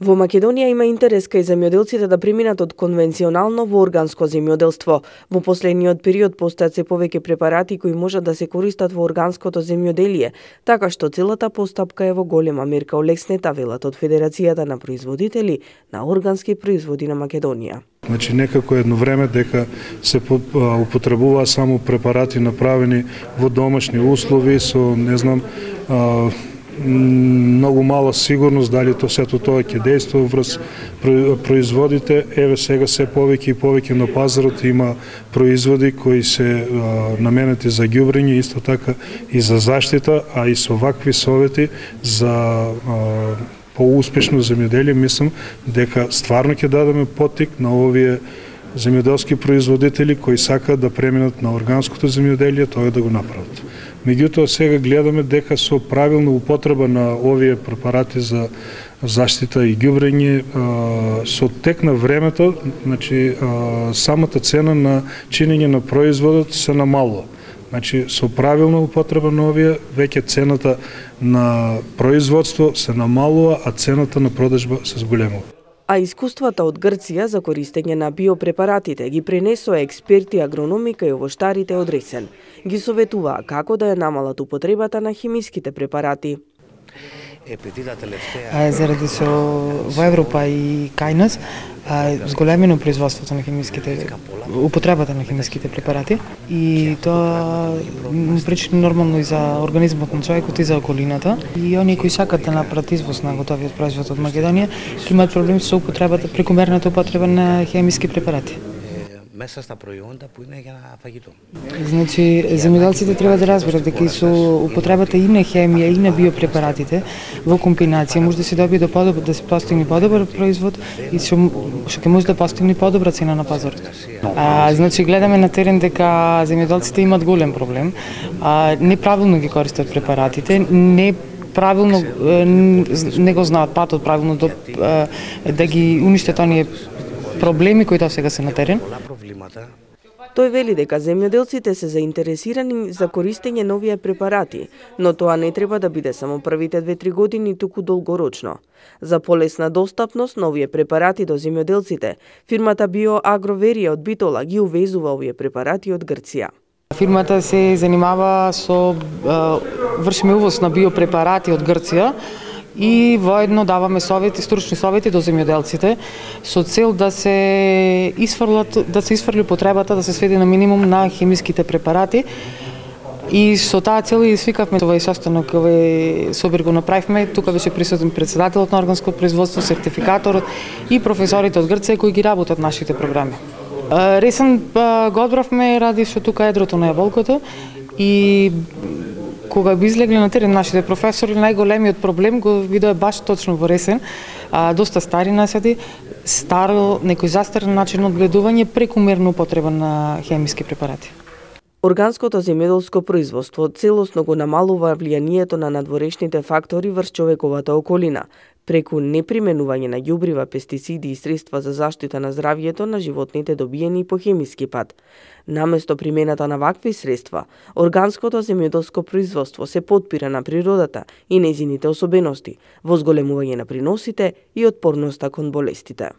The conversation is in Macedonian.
Во Македонија има интерес кај земјоделците да преминат од конвенционално во органско земјоделство. Во последниот период постојат се повеќе препарати кои можат да се користат во органското земјоделие, така што целата постапка е во голема мерка олеснета, велат од Федерацијата на производители на органски производи на Македонија. Значи некако едно време дека се употребуваа само препарати направени во домашни услови со многу мала сигурност дали сето тоа ќе дејства врз производите. Еве сега се повеќе и повеќе на пазарот има производи кои се наменети за ѓубрење, исто така и за заштита, а и со вакви совети за поуспешно земјоделие, мислам дека стварно ќе дадеме поттик на овие земјоделски производители кои сакаат да преминат на органското земјоделие, тоа да го направат. Меѓутоа сега гледаме дека со правилна употреба на овие препарати за заштита и ѓубрење, со тек на времето, значи самата цена на чинење на производот се намалува. Значи со правилна употреба на овие веќе цената на производство се намалува, а цената на продажба се зголемува. А искуствата од Грција за користење на биопрепаратите ги пренесоа експерти агрономи кај овоштарите од Ресен. Ги советуваа како да ја намалат употребата на хемиските препарати. Заради со во Европа и кај нас зголемено производството на употребата на хемиските препарати и тоа причини нормално и за организмот на човекот и за околината. И оние кои сакаат да направат извоз на готовиот производ од Македонија ќе имаат проблем со употребата, прекомерната употреба на хемиски препарати. Значи, земјоделците треба да разберат дека и со употребата и на хемија и на биопрепаратите во комбинација може да се добие да се постигне подобар производ и што ќе може да постигне подобра цена на пазарот. Значи, гледаме на терен дека земјоделците имаат голем проблем. Неправилно ги користат препаратите, правилно не го знаат патот правилно да ги уништат оние проблеми кои сега се на терен. Тој вели дека земјоделците се заинтересирани за користење на овие препарати, но тоа не треба да биде само првите 2-3 години, туку долгорочно. За полесна достапност на овие препарати до земјоделците, фирмата Биоагроверија од Битола ги увезува овие препарати од Грција. Фирмата се занимава со вршиме увоз на биопрепарати од Грција и воедно даваме стручни совети до земјоделците со цел да се изфрли потребата, да се сведе на минимум на хемиските препарати. И со таа цел и свикавме овој состанок, овој собир го направивме. Тука беше присутен председателот на органско производство, сертификаторот и професорите од Грција кои ги работат нашите програми. Ресен го одбравме ради што тука едрото на јаболкото и кога би излегле на терен нашите професори, најголемиот проблем го видоа баш точно во Ресен. Доста стари насади, некој застарен начин од гледување, прекумерна употреба на хемиски препарати. Органското земјоделско производство целосно го намалува влијанието на надворешните фактори врз човековата околина, преку неприменување на ѓубрива, пестициди и средства за заштита на здравјето на животните добиени по хемиски пат. Наместо примената на вакви средства, органското земјоделско производство се потпира на природата и нејзините особености, во зголемување на приносите и отпорноста кон болестите.